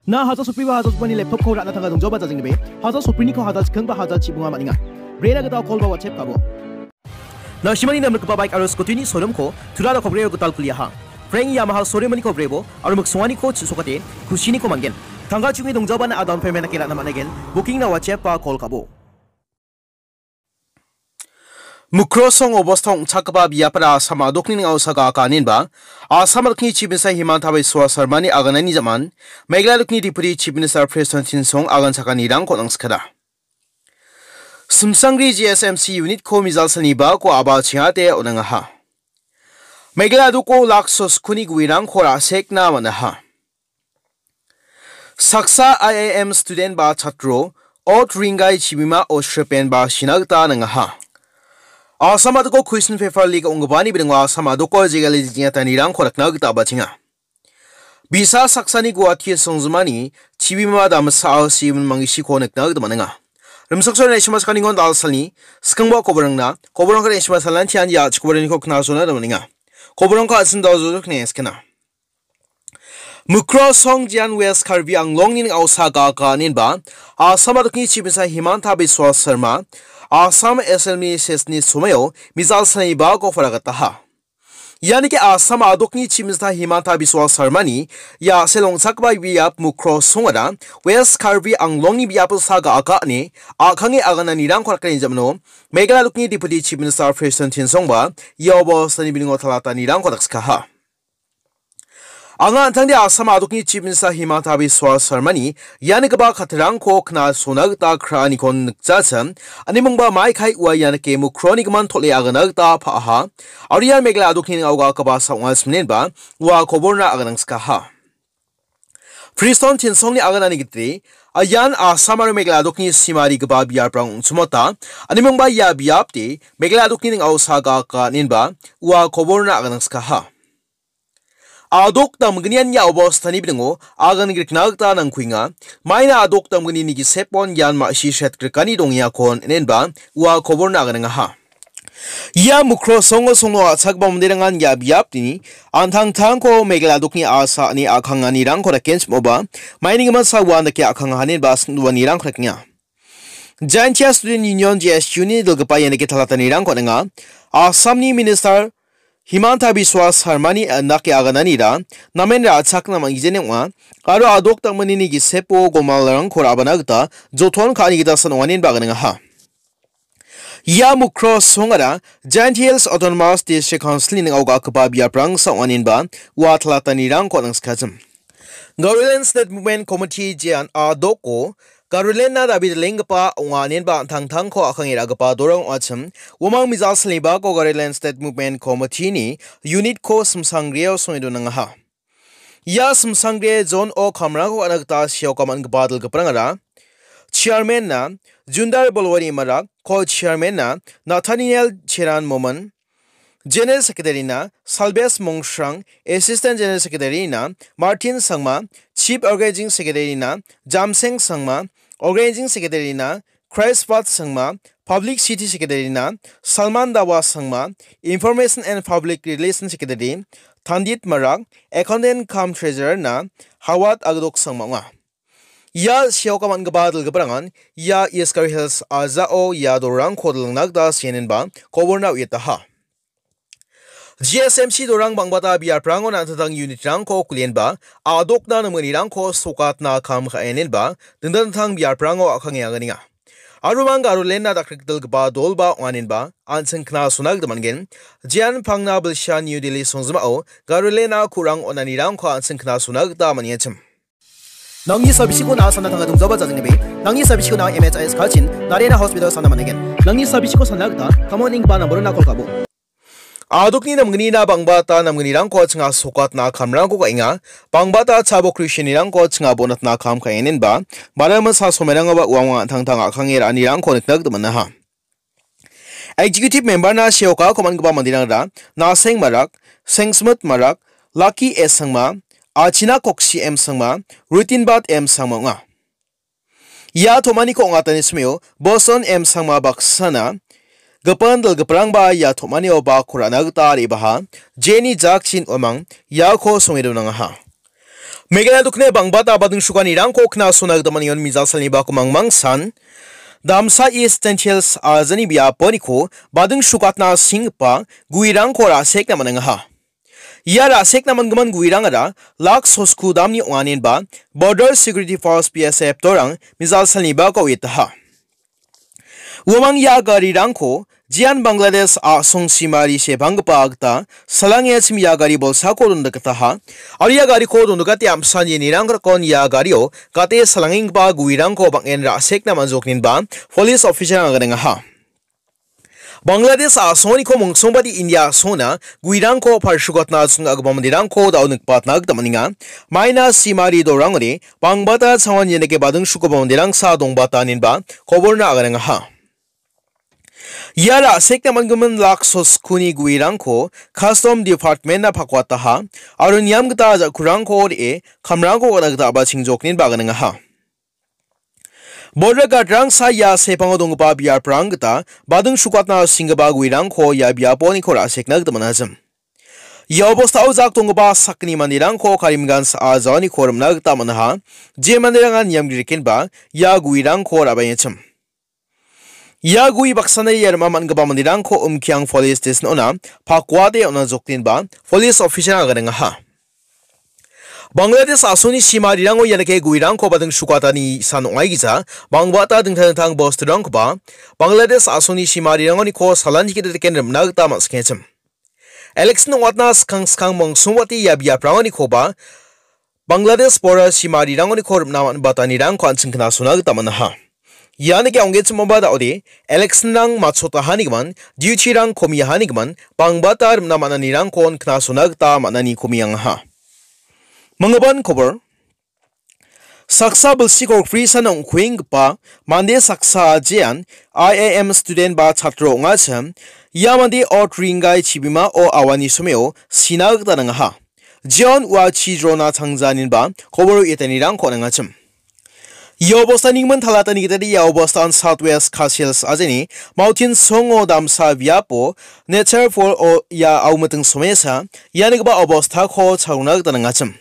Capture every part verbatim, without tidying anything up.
Na haja sotbriba haja jokbani laptop-ko ra·na tangka dongjaoba jajenggibe, haja sotbriniko haja chikingba haja chibunga man·enga. Brena gita call ba WhatsApp ka·bo. Nangsimani namrikgipa bike aro scooty-ni showroom-ko Turara Kobreo gital kuliaha. Frank Yamaha showroom-niko brebo aro miksonganiko chisokate kusiniko man·gen. Tangka chungi dongjaoba na down payment dake ra·na man·aigen. Booking-na WhatsApp ba call ka·bo. Mukrosong obostao ong·chakgipa biapara Assam a·dokni ning·ao saga aka aninba, Assam a·dokni Chief Minister Himanta Biswa Sarmani aganani jaman, Meghalaya a·dokni Deputy Chief Minister Prestone Tynsong agan chakanirangko nangsikada. Simsangri G S M C unit-ko mijal salni bako aba chingate on·angaha. Meghalaya a·doko lakso skuni guerangko ra·sekna man·aha. Saksa I I M student ba chatro, ot ringgai chibimao sripen ba sina gita nangaha. Assam a·doko question paper leak ong·gipani bilingo Assam a·doko jegal jejanirangko rakna gita bachenga. Bisa saksani Guwahati songjimani chibima damsao simin mangisiko nikna gita man·enga. Rimchaksoa Naisima Sakaningon Dalsalni skangba koborangna, koborangko Naisima Salantian ya chikobaraniko knasona gita man·enga. Koborangko a·sin daljojok nengskena. Mukrosong Jian West Karbi Anglongni ning·ao saga aka aninba, Assam a·dokni Chief Minister Himanta Biswa Sarma, Assam Assembly session-ni somoio mijal salni bako paragataha. Ianike Assam a·dokni Chief Minister Himanta Biswa Sarmani ia selongchakba biap Mukrosongara West Karbi Anglongni biapo saga aka ine a·kange agananirangko rakani jamano Meghalaya a·dokni Deputy Chief Minister Prestone Tynsongba ia obostani bilingo talatanirangko dakskaha. Anga an·tangde Assam a·dokni Chief Minister Himanta Biswa Sarmani ianigipa katirangko knasona gita kraaniko nikjachim, animingba maikai ua ianike Mukroni gimin tol·e agana gita pa·aha, aro ian Meghalaya a·dokni ning·ao gagipa sa ong·a siminenba ua koborna aganangskaha. Prestone Tynsongni aganani gitire, ian Assam aro Meghalaya a·dokni simarigipa biaprang ong·chimota, animingba ia biapde Meghalaya a·dokni ning·ao saga aka aninba ua koborna aganangskaha. A·dok damgnian ia obostani bilingo agan grikna gita nangkuenga. Maina a·dok damgnini gisepon ian ma·si sretgrikani dongengakon inenba ua koborna aganangaha. Ia Mukrosongo songno a·chakgipa manderangan ia biapni an·tangtangko Meghalaya a·dokni asa ine a·kanganirangko dakenchimoba, maini gimin sa uan dake a·kangahanenba sing·doanirangko dakenga. Jaintia Student Union, J S U-ni dilgipa ianike talatanirangko on·enga. Assamni Minister Himanta Biswa Sarmani indake agananira namen ra·chakna man·gijeni ong·a, aro a·dok damgnini gisepo gomalrangko ra·bana gita joton ka·ani gita san ong·anenba aganengaha. Ia Mukrosongara Jaintia Hills Autonomous District Council-ni ning·ao ga·akipa biaprangsa ong·anenba ua talatanirangko on·angskajim. Garoland State Movement Committee jean a·doko Garoland-na dabi dilenggipa ong·a inenba an·tangtangko a·kange ra·gipa dorang ong·achim. Uamang mijal salnibako Garoland State Movement Committee-ni unit-ko simsangreo songe donangaha. Ia simsangre John O. Kamrangko on·a gita seoka man·gipa dilgiprangara Chairman-na Jundar Bolwani Marak, Co-Chairman-na Nathaniel Cheran Momin, General Secretary-na Salbes Mongshrang, Assistant General Secretary-na Martin Sangma, Chief Organizing Secretary-na Jamseng Sangma, Organizing Secretary-na Christpath Sangma, Publicity Secretary-na Salman Dawa Sangma, Information and Public Relations Secretary Thandit Marak, Accountant cum Treasurer-na Hawat Agdok Sangma ong·a. Ia seoka man·gipa dilgiprangan ia East Garo Hills a·jao ia dorangko dilangna gita sienenba koborna uiataha. G S M C dorang bang·bata biaprango an·tangtang unit-rangko kulienba a·dokna namgnirangko sokatna kam ka·enenba dingtang dingtang biaprango a·kange anganenga. Aro mang Garoland-na dakrikdilgipa dolba ong·anenba an·ching knasona gita man·gen. Jean Pangna Bilsha New Delhi songjimao Garoland-na ku·rang on·anirangko an·ching knasona gita man·enchim. Nangni sabisiko na·a sana tangka dongjaoba jajenggibe. Nangni sabisiko na·a M H I S kachin, Narayana Hospital sana man·aigen. Nangni sabisiko sana gita, kamon ing ba namborona kol ka·bo. A·dokni namgnina bang·bata namgnirangko chinga sokatna kamrangko ka·enga. Bang·bata chabo Christianirangko chinga bonatna kam ka·enenba, bara masa somerangoba uamang an·tangtang a·kange ra·anirangko nikna gita man·aha. Executive member-na seoka komangipa manderangra Naseng Marak, Sengsmit Marak, Lucky S Sangma, Achina Koksi M Sangma, Rutinbat M Sangma ong·a. Ia tom·aniko ong·atani smeo Boson M Sangma baksana gipin dilgiprangba ia tom·anio bako ra·na gita re·baha, jeni jakchin uamang iako songe donangaha. Meghalaya dokni bangbata bading sukanirangko knasona gita man·engon mijal salni bako mangmangsan. Damsa East Jaintia Hills ajani biaponiko bading sukatna singgipa guirangko ra·sekna man·engaha. Ia ra·sekna man·gimin guirangara Laksosku damni ong·anenba Border Security Force B S F dorang mijal salni bako uietaha. Uamang ia garirangko jean Bangladesh a·song simari sebanggipa gita salangengachim ia gari bolsako dondikataha. Aro ia gariko dondikate amsan ienirangrakon ia gario gate salangenggipa guirangko bang·en ra·sekna man·jokninba police officer-rang aganengaha. Bangladesh a·songoniko mongsongbate India a·songona guirangko palsukatna ching·agipa manderangko da·o nikbatna gita man·enga. Maina simari dorangoni bangbata changon ianike badingsukoba manderangsa dongbata inenba koborna aganengaha. Ia ra·sekna man·gimin Laksosku ni guirangko Custom Department-na pakwataha aro niam gita ja·kurangko re·e kamrangko gana gita a·bachingjokninba aganengaha. Border guard-rangsa ia sepango donggipa biaprang gita bading sukatna singgipa guirangko ia biaponiko ra·sekna gita man·achim. Ia obostao jak donggipa sakgni manderangko Karimganj a·jaoniko rim·na gita man·aha. Je manderangan niam grikenba ia guirangko ra·baengachim. Ia gui baksana ia rim·a man·gipa manderangko Umkiang Police Station-ona pakuate on·a jokdenba police officer-rang aganengaha. Bangladesh a·songni simarirango ianike guirangko bading sukatani san ong·aigija bangbata dingtang dingtang bosturangkoba Bangladesh a·songni simarirangoniko salanchi gita teken rim·na gita man·skenchim. Election ong·atna skang skang mongsongbate ia biaprangonikoba Bangladesh border simarirangoniko rim·na man·batanirangko an·ching knasona gita man·aha. Ianike ong·genchimaba da·ode election-rang matchotahanigimin, duty-rang komiahanigimin, bangbata rim·na man·anirangkon knasona gita man·ani komiangaha. Manggipan kobor. Saksa bilsi kolgrisan ong·kuenggipa mande saksa ajean I I M student ba chatro ong·achim. Ia mande ot ringgai chibimao awani someo sina gita nangaha. Jeon ua chi drona changjaninba koboro ietanirangko nangachim. Ia obostani gimin talatani gitade ia obostan South West Khasi Hills ajeni Mountain Songo damsa biapo Nature Fall o ia aumiting somesa ianigipa obostako chalona gita nangachim.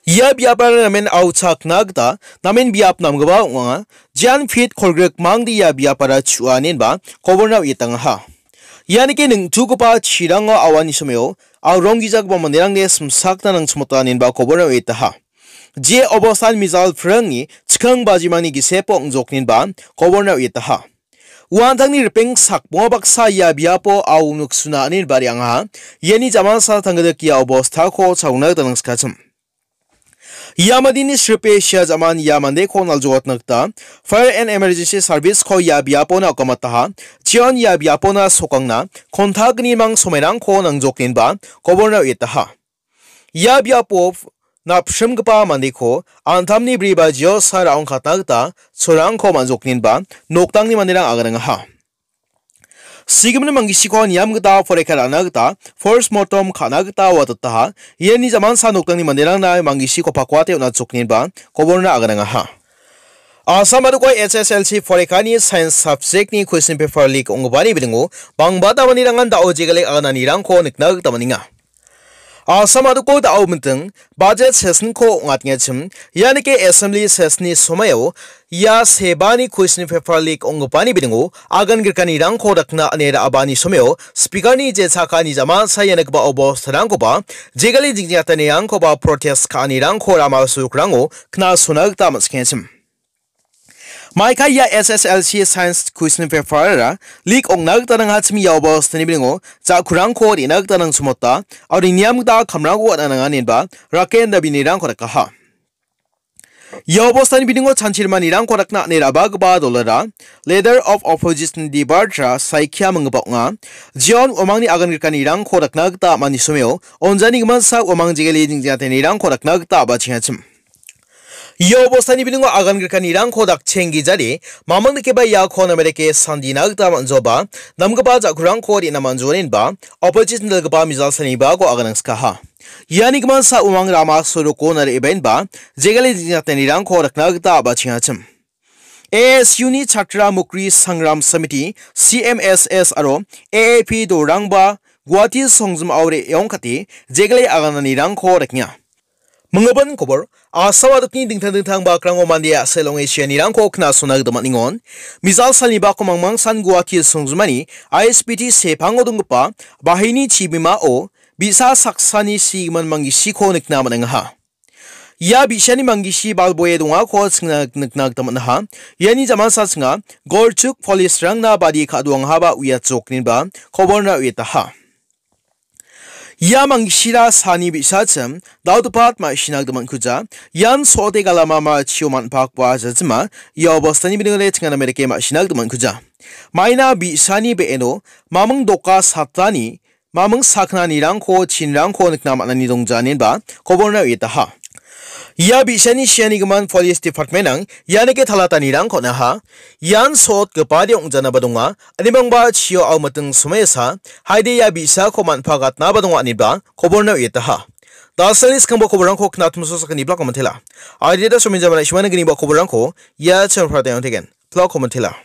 Ia biapara namen auchakna gita namen biap namgipa ong·a. Jean Pit kolgrik mangde ia biapara chu·anenba koborna uitangaha. Ianike ningtugipa chirango awani someo aurong gijagipa manderangde simsakna nangchimotanenba koborna uietaha. Je obostan mijal pringni chikang bajimani gisepo ong·joknenba koborna uietaha. Uantangni ripeng sakbonga baksa ia biapo au noksuna anenba re·angaha. Iani jamansa tanggidik ia obostako chalona gita nangsikachim. Ia mandeni sripe sia jaman ia mandeko naljoatna gita Fire and Emergency Service-ko ia biapona okamataha. Chion ia biapona sokangna kontakgnimang somairangko nangjoknenba koborna uietaha. Ia biapo napsrimgipa mandeko antamni bri bajiosa ra·ongkatna gita chorangko man·joknenba noktangni manderang aganangaha. Sigimin manggisiko niam gita poreka ra·na gita postmortem ka·na gita watataha. Iani jamansa noktangni manderangna manggisiko pakuate on·achoknenba koborna aganangaha. Assam a·doko H S L C porekani science subject-ni question paper leak ong·gipani bilingo bangbata manderangan da·o jegalek agananirangko nikna gita man·enga. Assam a·doko da·o minting budget session-ko ong·atengachim, ianike assembly session-ni somaio ia sebani question paper leak ong·gipani bilingo agan grikanirangko dakna ine ra·abani somaio speaker-ni jechakani jama saia nikgipa obostarangkoba jegale jingjingatanirangkoba protest ka·anirangko rama sokrango knasona gita man·skenchim. Maika ia S S L C science question paper-ara leak ong·na gita nangachim ia obostani bilingo ja·kurangko re·na gita nangchimota, aro niam gita kamrangko on·a nanganenba raken dabinirangko dakaha. Ia obostani bilingo chanchirmanirangko dakna ane ra·bagipa dolara Leader of Opposition Debatra saikia minggipa ong·a. Jeon uamangni agan grikanirangko dakna gita a·mani someo onjani gimansa uamang jegale jingjingatenirangko dakna gita a·bachengachim. Ia obostani bilingo agan grikanirangko dakcheng gijade, mamang dikeba iako namereke sandina gita man·joba, namgipa ja·kurangko re·na man·joenba, opposition dalgipa mijal salnibako aganangskaha. Iani gimansa umang rama soroko nare·baenba, jegale jingjingatenirangko dakna gita a·bachengachim. A S U-ni Chatra Mukri Sangram Samiti, C M S S aro A A P dorangba Guwahati songjim aore eongkate jegale agananirangko rekenga. Minggimin kobor, Assam adokni dingtang dingtang bakrango mande a·sel ong·e sianirangko knasona gita man·engon. Mejal salni bako mangmangsan Guwahati songjinmani I S B T sepango donggipa bahini chibimao bi·sa saksani sigimin manggisiko nikna man·engaha. Ia bi·sani manggisi balboe dongako chingna nikna gita man·aha. Iani jamansa chinga Gorchuk police-rangna badi ka·doangahaba uiachok inba koborna uiataha. Ia mangisira sani bi·sachim dal·gipa ma·sina gita man·kuja. Ian so·ote galama ma·chio man·pakba jajima ia obostani bidingre chingana merike ma·sina gita man·kuja. Maina bi·sani be·eno maming doka satani maming saknanirangko chinrangko nikna man·ani dongja inenba koborna uiataha. Ia bi·sani sianigimin police department-ang ianike talatanirangko on·aha. Ian so·otgipade ong·janaba donga. Animangba chio aomiting somoisa haide ia bi·sako man·pagatnaba donga ineba koborna uiataha. Dalsani skangba koborrangko knatumso sakani blako mantela. Aideda sominjamana ismana giniba koborrangko ia channel pratayang tegen. Blako mantela.